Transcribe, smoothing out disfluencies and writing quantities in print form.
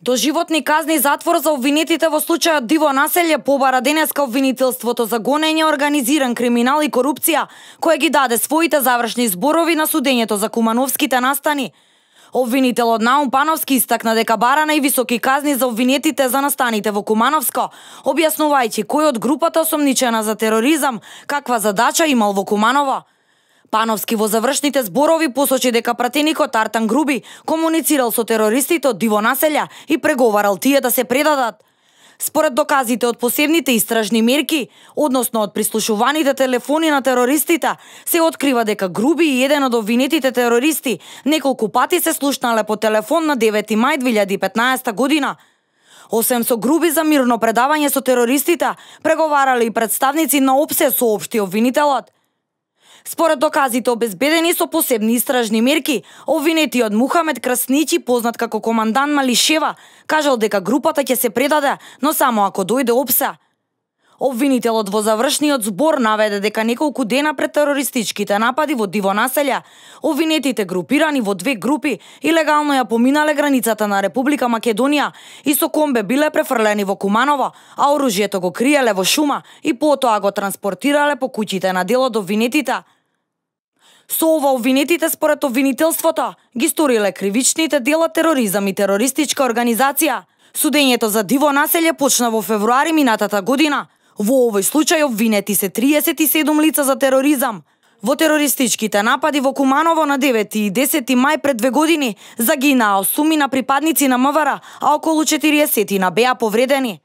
Доживотни казни затвор за обвинетите во случајот Диво населје побара денеска обвинителството за гонење, организиран криминал и корупција, кој ги даде своите завршни зборови на судењето за Кумановските настани. Обвинителот Наум Пановски истакна дека бара највисоки казни за обвинетите за настаните во Кумановско, објаснувајќи кој од групата осомничена за тероризам каква задача имал во Куманово. Пановски во завршните зборови посочи дека пратеникот Артан Груби комуницирал со терористите од Диво населја и преговарал тие да се предадат. Според доказите од посебните истражни мерки, односно од прислушуваните телефони на терористите, се открива дека Груби и еден од обвинетите терористи неколку пати се слушнале по телефон на 9 мај 2015 година. Освен со Груби за мирно предавање со терористите, преговарале и представници на ОПСЕ, соопшти обвинителот. Според доказите обезбедени со посебни истражни мерки, обвинетиот Мухамед Красничи, познат како командант Малишева, кажал дека групата ќе се предаде, но само ако дојде ОПСЕ. Обвинителот во завршниот збор наведе дека неколку дена пред терористичките напади во Диво населја, обвинетите групирани во две групи илегално ја поминале границата на Република Македонија и со комбе биле префрлени во Куманово, а оружјето го криеле во шума и потоа го транспортирале по куќите на дел од обвинетите. Со ова обвинетите според обвинителството ги сториле кривичните дела тероризам и терористичка организација. Судењето за Диво населје почна во февруари минатата година. Во овој случај обвинети се 37 лица за тероризам. Во терористичките напади во Куманово на 9 и 10 мај пред 2 години загинаа 8 припадници на МВР, а околу 40 беа повредени.